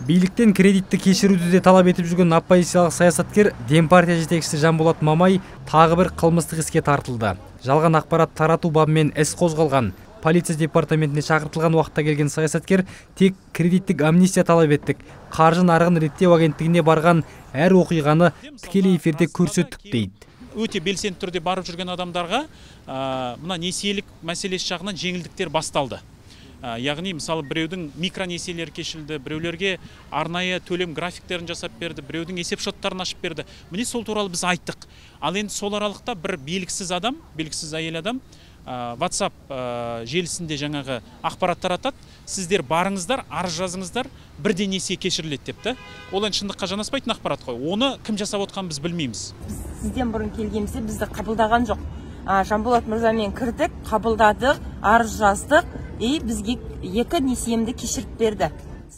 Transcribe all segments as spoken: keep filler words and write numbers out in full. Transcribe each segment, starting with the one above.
Бийликтен кредитти кечирүүдү де талап этип жүргөн оппозициялык саясаткер Дем партия жетекчиси Жанболот Мамай тагы бир кылмыстык иске тартылды. Жалган акпарат таратуу бабы менен эс козголган. Полиция департаментине чакыртылган убакта келген саясаткер тек кредиттик амнистия талап эттик. Каржы нарыгын реттөө агенттигине барган әр окуйганы тикелей эфирде көрсөттүк дейт. Өтө белсенди түрдө барып жүргөн адамдарга мына несиелик маселеси жагынан жеңилдиктер басталды. Яғни мысалы біреудің микронесиелері кешілді, біреулерге арнайы төлем графиктерін жасап берді, біреудің есеп шоттарын ашып берді. Міне сол туралы біз айттық. Ал енді сол аралықта бір белгісіз адам, белгісіз әйел адам WhatsApp желісінде жаңағы ақпарат таратады. Сіздер барыңыздар, арыз жазыңыздар, бірден несие кешіріледі депті. Ол енді шындыққа жанаспайтын ақпарат қой. Оны кім жасап отқан біз білмейміз. Сізден бұрын келгенімізде бізді қабылдаған жоқ. Жанболот мырзамен кірдік, қабылдадық, арыз жаздық. И бизге эки несиемди кеширип берди.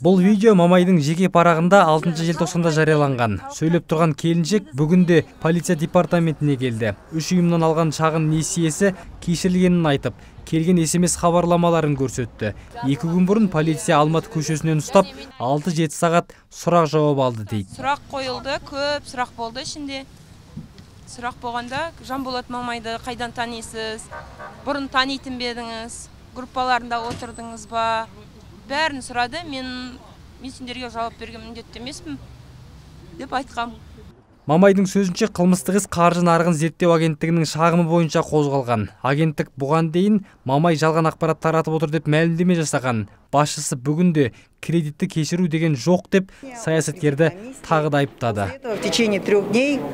Бул видео Мамайдын жеке парагында алтынчы желтоқсанда жарыяланган. Сөйлөп турган келинчек бүгүндө полиция департаментине келди. Үч уюмдан алган чагын несиеси кеширилгенин айтып, келген эс эм эс кабарламаларын көрсөттү. эки күн мурун полиция Алматы көчөсүнөн уштап алты жети саат сурак жооп алды дейт. Сурак коюлду, көп сурак болду ичинде. Сурак болгондо Жанболот Мамайды кайдан таанийсиз? Бурун таанитын бедиңиз? Группаларында отурдуңуз ба? Бәрін сурады. Мен мен сендерге жауап берген міндетті емеспін деп айткам. Мамайдың сөзінше кылмыстык ис каржы нарыгын зерттөө агенттигинин шагымы боюнча козголган. Агенттик буган дейин Мамай жалган акпарат таратып отур деп маалимдеме жасаган. Башчысы бүгүндө кредитти кечирүү деген жок деп саясаткерди тагы да айыптады.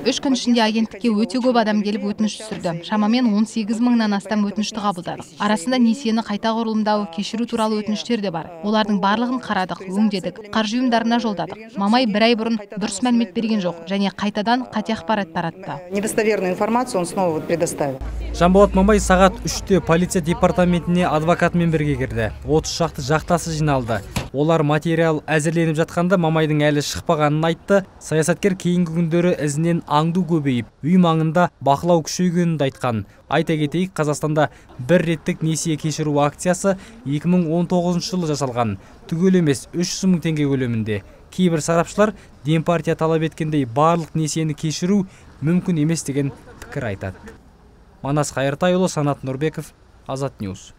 Үч күн ичинде агенттикке өтө көп адам келип өтүнүш түшүрдү. Шамамен он сегиз мыңдан астам өтүнүштү кабылдадык. Арасында несиени кайта курулумдоо, кечирүү тууралуу өтүнүштөр да бар. Олардын баардыгын карадык, өңдөдүк, каржы уюмдарына жолдадык. Мамай бир ай бурун дурус маалимет берген жок және кайтадан кате акпарат таратты. Недостоверную информацию он снова предоставил. Жанболот Мамай саат үчтө полиция департаментине адвокат менен бирге кирди. отуз шакты жактасы жиналды. Олар материал әзірленип жатканда Мамайдың әлі шықпағанын айтты. Саясаткер кейинги күндөрү изинен аңдуу көбейип, үй маңында бакылау күчөйгөнүн айткан. Айта кетейик, Казакстанда бир реттик несие кечирүү акциясы эки миң он тогузунчу жылы жасалган. Түгөл эмес үч жүз миң теңге көлөмүндө. Кейбир сарапчылар Дем партия талап эткендей барлык несиени кечирүү мүмкүн эмес деген пикир айтат. Манас Кайыртай уулу, Санат Нурбеков, Азат Ньюс.